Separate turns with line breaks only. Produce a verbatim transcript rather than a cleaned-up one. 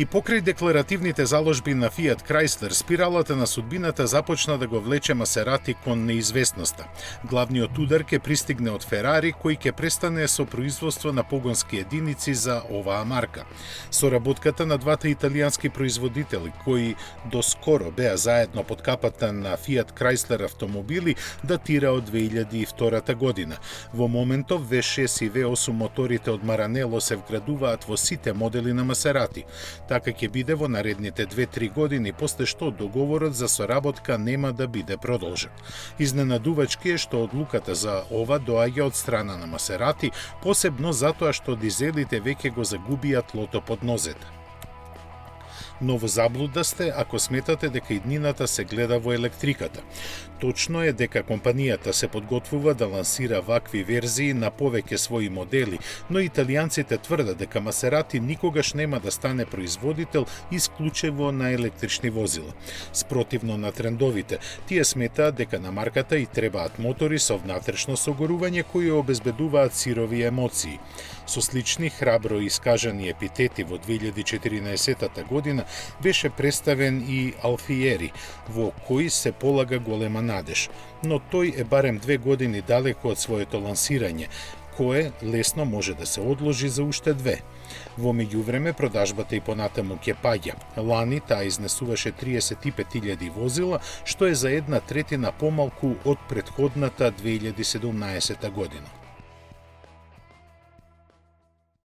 И покрај декларативните заложби на Fiat Chrysler, спиралата на судбината започна да го влече Масерати кон неизвестноста. Главниот удар ќе пристигне од Ферари, кој ќе престане со производство на погонски единици за оваа марка. Соработката на двата италијански производители, кои доскоро беа заедно под капата на Fiat Chrysler автомобили, датира од две илјади и втора година. Во моментов ви шест и ви осум моторите од Маранело се вградуваат во сите модели на Масерати. Така ќе биде во наредните две-три години, после што договорот за соработка нема да биде продолжен. Изненадувачки е што одлуката за ова доаѓа од страна на Масерати, посебно затоа што дизелите веќе го загубија тлото под нозете. Но во заблуда сте ако сметате дека иднината се гледа во електриката. Точно е дека компанијата се подготвува да лансира вакви верзии на повеќе своји модели, но италијанците тврдат дека Масерати никогаш нема да стане производител исклучиво на електрични возила. Спротивно на трендовите, тие сметаат дека на марката и требаат мотори со внатрешно согорување кои обезбедуваат сирови емоции. Со слични храбро искажани епитети во две илјади и четиринаесета година беше представен и Алфиери, во кој се полага голема надеж, но тој е барем две години далеко од своето лансирање, кое лесно може да се одложи за уште две. Во меѓувреме продажбата и понатаму ќе паѓа. Лани таа изнесуваше триесет и пет илјади возила, што е за една третина помалку од претходната две илјади и седумнаесета година.